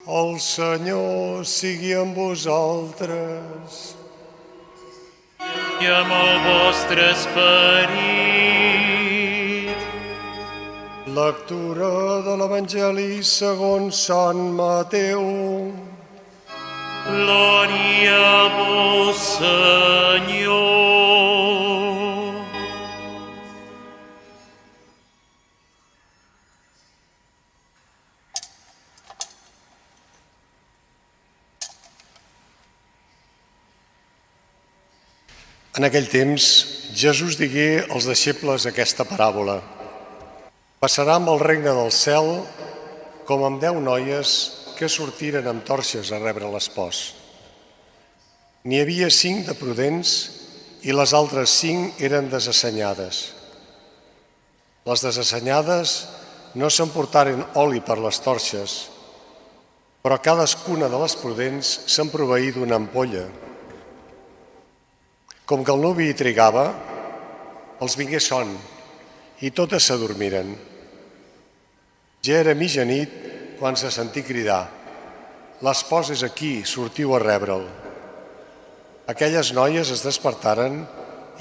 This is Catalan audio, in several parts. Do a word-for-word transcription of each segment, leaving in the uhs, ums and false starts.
El Senyor sigui amb vosaltres. I amb el vostre esperit. Lectura de l'Evangeli segons Sant Mateu. Glòria a vos, Senyor. En aquell temps, Jesús digué als deixebles aquesta paràbola. Passarà amb el regne del cel com amb deu noies que sortiren amb torxes a rebre l'espòs. N'hi havia cinc de prudents i les altres cinc eren desassenyades. Les desassenyades no s'emportaren oli per les torxes, però cadascuna de les prudents se'n proveí d'una ampolla. Com que el nuvi hi trigava, els vingué son i totes s'adormiren. Ja era mitjanit quan se sentí cridar: «L'espòs és aquí, sortiu a rebre'l». Aquelles noies es despertaren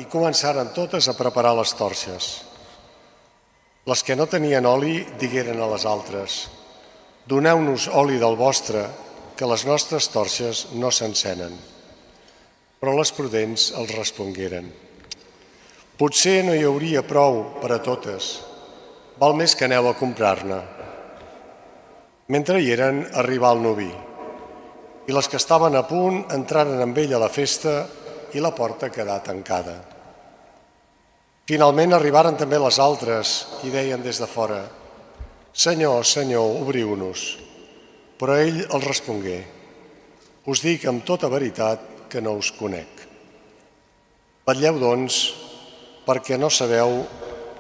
i començaren totes a preparar les torxes. Les que no tenien oli digueren a les altres: «Doneu-nos oli del vostre, que les nostres torxes no s'encenen». Però les prudents els respongueren: «Potser no hi hauria prou per a totes. Val més que aneu a comprar-ne». Mentre hi eren, arribà el nuvi, i les que estaven a punt entraren amb ell a la festa i la porta quedà tancada. Finalment arribaren també les altres i deien des de fora: «Senyor, Senyor, obriu-nos». Però ell els respongué: «Us dic amb tota veritat que no us conec. Vetlleu, doncs, perquè no sabeu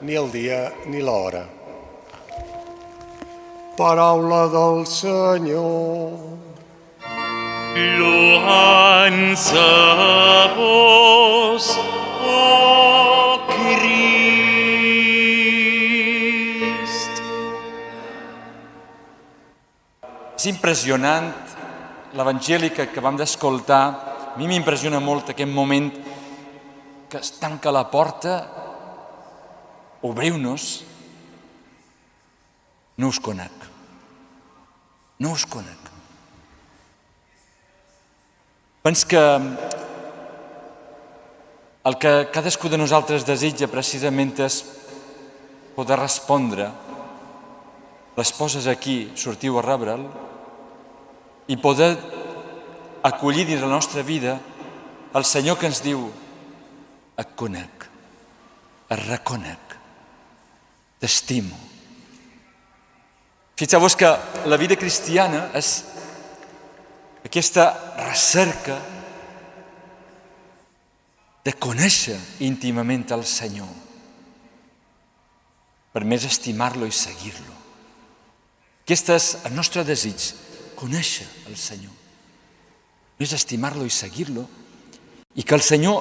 ni el dia ni l'hora». Paraula del Senyor. Lloança a vos, o Crist. És impressionant l'Evangeli que acabam d'escoltar. A mi m'impressiona molt aquest moment que es tanca la porta. Obriu-nos. No us conec. No us conec. Penso que el que cadascú de nosaltres desitja precisament és poder respondre: l'espòs és aquí, sortiu a rebre'l, i poder acollir dins la nostra vida el Senyor que ens diu: et conec, et reconec, t'estimo. Fixeu-vos que la vida cristiana és aquesta recerca de conèixer íntimament el Senyor per més estimar-lo i seguir-lo. Aquest és el nostre desig, conèixer el Senyor, més estimar-lo i seguir-lo, i que el Senyor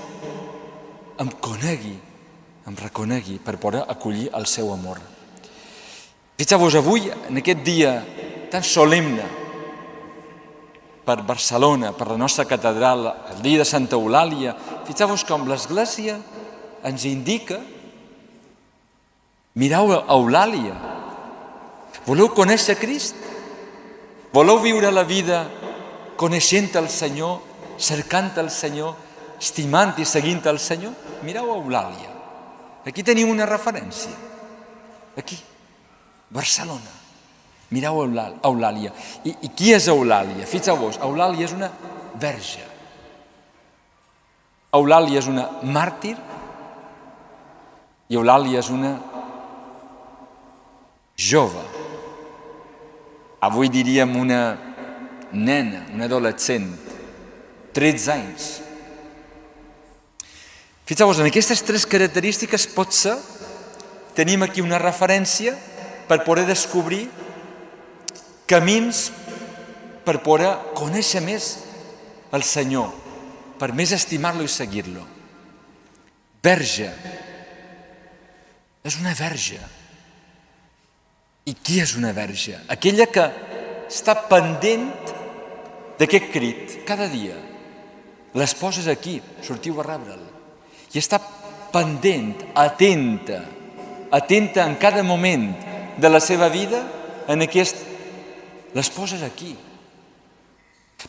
em conegui, em reconegui per poder acollir el seu amor. Fixeu-vos, avui, en aquest dia tan solemne per Barcelona, per la nostra catedral, el dia de Santa Eulàlia, fixeu-vos com l'Església ens indica: mireu Eulàlia. Voleu conèixer Crist? Voleu viure la vida coneixent el Senyor, cercant el Senyor, estimant i seguint el Senyor? Mireu Eulàlia. Aquí tenim una referència. Aquí, Barcelona. Mireu Eulàlia. I, I qui és Eulàlia? Fixeu-vos, Eulàlia és una verge. Eulàlia és una màrtir i Eulàlia és una jove. Avui diríem una nena, una adolescent, tretze anys. Fixeu-vos, en aquestes tres característiques potser tenim aquí una referència per poder descobrir camins per poder conèixer més el Senyor, per més estimar-lo i seguir-lo. Verge. És una verge. I qui és una verge? Aquella que està pendent d'aquest crit, cada dia. L'espòs és aquí, sortiu a rebre'l. I està pendent, atenta, atenta en cada moment de la seva vida en aquest... L'espòs és aquí.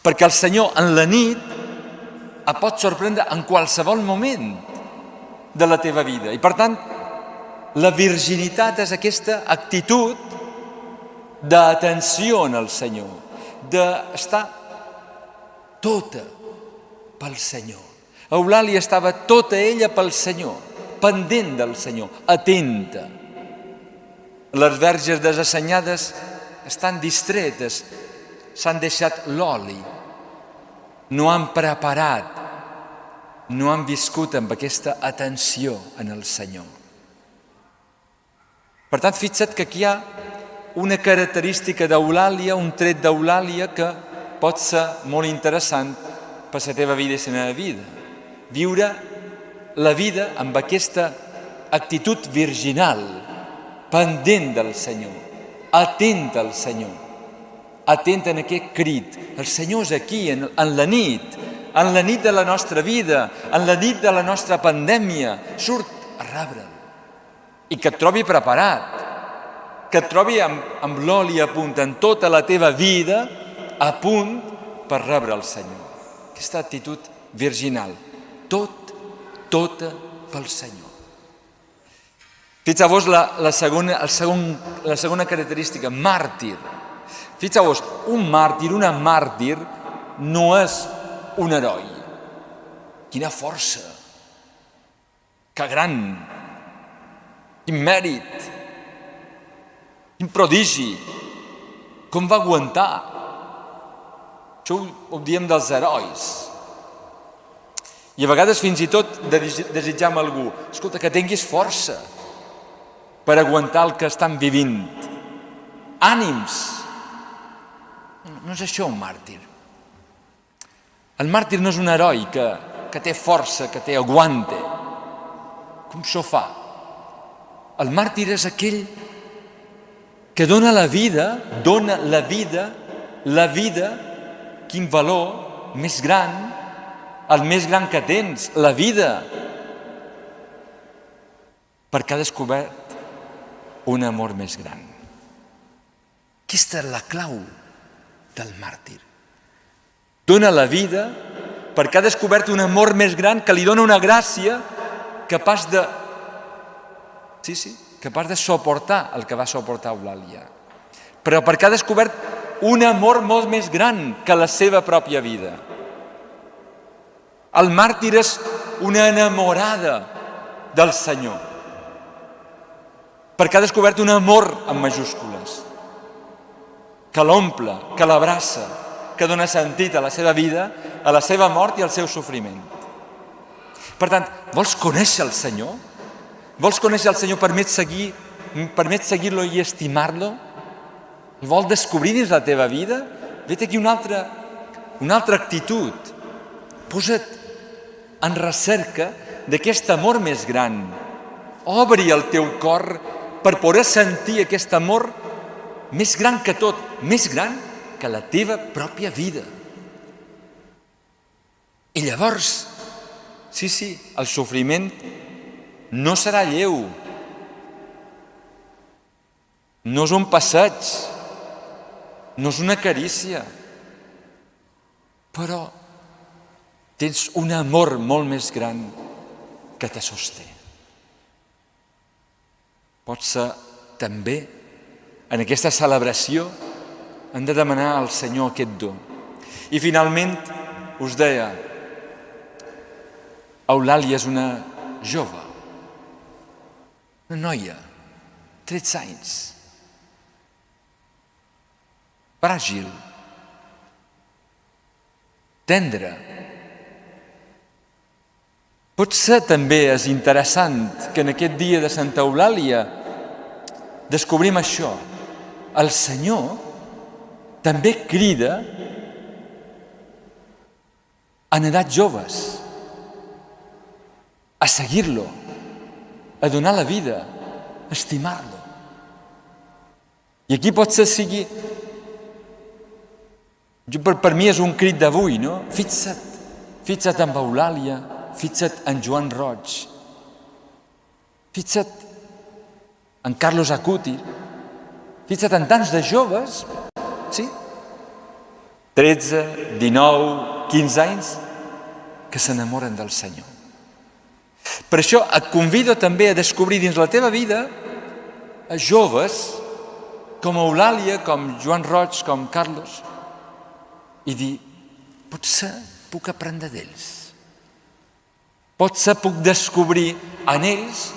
Perquè el Senyor en la nit et pot sorprendre en qualsevol moment de la teva vida. I per tant, la virginitat és aquesta actitud d'atenció en el Senyor, d'estar tota pel Senyor. Eulàlia estava tota ella pel Senyor, pendent del Senyor, atenta. Les verges desassenyades estan distretes, s'han deixat l'oli, no han preparat, no han viscut amb aquesta atenció en el Senyor. Per tant, fixa't que aquí hi ha una característica d'Eulàlia, un tret d'Eulàlia que pot ser molt interessant per la teva vida i la meva vida. Viure la vida amb aquesta actitud virginal, pendent del Senyor, atent al Senyor, atent en aquest crit. El Senyor és aquí, en, en la nit, en la nit de la nostra vida, en la nit de la nostra pandèmia. Surt a rebre'l. I que et trobi preparat, que et trobi amb, amb l'oli a punt en tota la teva vida, a punt per rebre el Senyor. Aquesta actitud virginal, tot, tota pel Senyor. Fixeu-vos la, la, segona, el segon, la segona característica, màrtir. Fixeu-vos, un màrtir, una màrtir, no és un heroi. Quina força, que gran, quin mèrit, quin prodigi, com va aguantar. Això ho, ho diem dels herois. I a vegades fins i tot desitjam a algú, escolta, que tinguis força per aguantar el que estan vivint. Ànims. No és això un màrtir. El màrtir no és un heroi que, que té força, que té aguante. Com s'ho fa? El màrtir és aquell que dona la vida, dona la vida, la vida, quin valor més gran, el més gran que tens, la vida, perquè ha descobert un amor més gran. Aquesta és la clau del màrtir. Dona la vida perquè ha descobert un amor més gran que li dona una gràcia capaç de... Sí, sí, capaç de suportar el que va suportar Eulàlia. Però perquè ha descobert un amor molt més gran que la seva pròpia vida. El màrtir és una enamorada del Senyor. Perquè ha descobert un amor amb majúscules, que l'omple, que l'abraça, que dona sentit a la seva vida, a la seva mort i al seu sofriment. Per tant, vols conèixer el Senyor? Vols conèixer el Senyor, permet seguir, permet seguir-lo i estimar-lo? El vols descobrir dins la teva vida? Vet aquí una altra, una altra actitud. Posa't en recerca d'aquest amor més gran. Obri el teu cor per poder sentir aquest amor més gran que tot, més gran que la teva pròpia vida. I llavors, sí, sí, el sofriment no serà lleu. No és un passeig, no és una carícia, però tens un amor molt més gran que te sosté. Pot ser també en aquesta celebració hem de demanar al Senyor aquest do. I finalment us deia, Eulàlia és una jove, una noia, tretze anys, fràgil, tendre. Potser també és interessant que en aquest dia de Santa Eulàlia descobrim això. El Senyor també crida en edats joves a seguir-lo, a donar la vida, a estimar-lo. I aquí potser sigui Jo, per, per mi és un crit d'avui, no? Fixa't, fixa't en Eulàlia, fixa't en Joan Roig, fixa't en Carlos Acuti, fixa't en tants de joves, sí? tretze, dinou, quinze anys, que s'enamoren del Senyor. Per això et convido també a descobrir dins la teva vida a joves com Eulàlia, com Joan Roig, com Carlos, i dir, potser puc aprendre d'ells. Potser puc descobrir en ells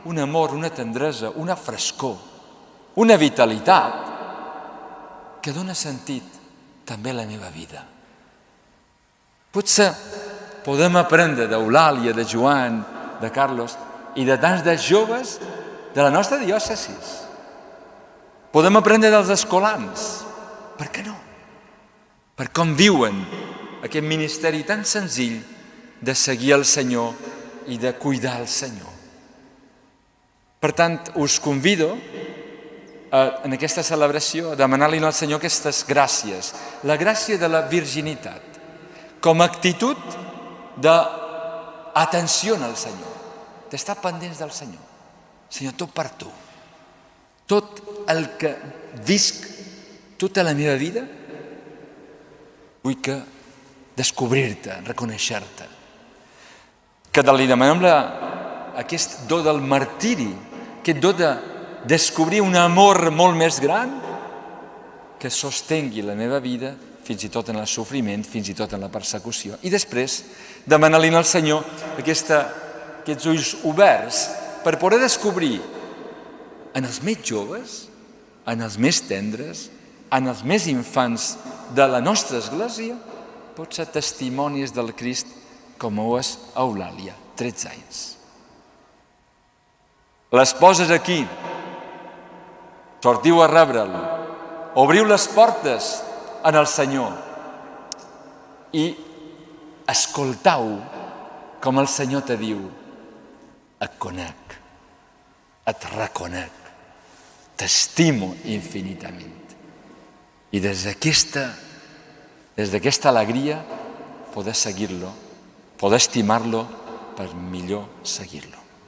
un amor, una tendresa, una frescor, una vitalitat que dona sentit també a la meva vida. Potser podem aprendre d'Eulàlia, de Joan, de Carlos i de tants de joves de la nostra diòcesi. Podem aprendre dels escolans. Per què no? Per com viuen aquest ministeri tan senzill de seguir el Senyor i de cuidar el Senyor. Per tant, us convido a, en aquesta celebració a demanar-li al Senyor aquestes gràcies. La gràcia de la virginitat, com a actitud d'atenció al Senyor, d'estar pendents del Senyor. Senyor, tot per tu. Tot el que visc, tota la meva vida, vull que descobrir-te, reconèixer-te. Que li demanem la, aquest do del martiri, aquest do de descobrir un amor molt més gran que sostengui la meva vida fins i tot en el sofriment, fins i tot en la persecució. I després demanar-li al Senyor aquesta, aquests ulls oberts per poder descobrir en els més joves, en els més tendres, en els més infants de la nostra església, pot ser testimonis del Crist com ho és Eulàlia, tretze anys. Les poses aquí, sortiu a rebre'l, obriu les portes en el Senyor i escoltau com el Senyor te diu: et conec, et reconec, t'estimo infinitament. I des d'aquesta, des d'aquesta alegria poder seguir-lo, poder estimar-lo per millor seguir-lo.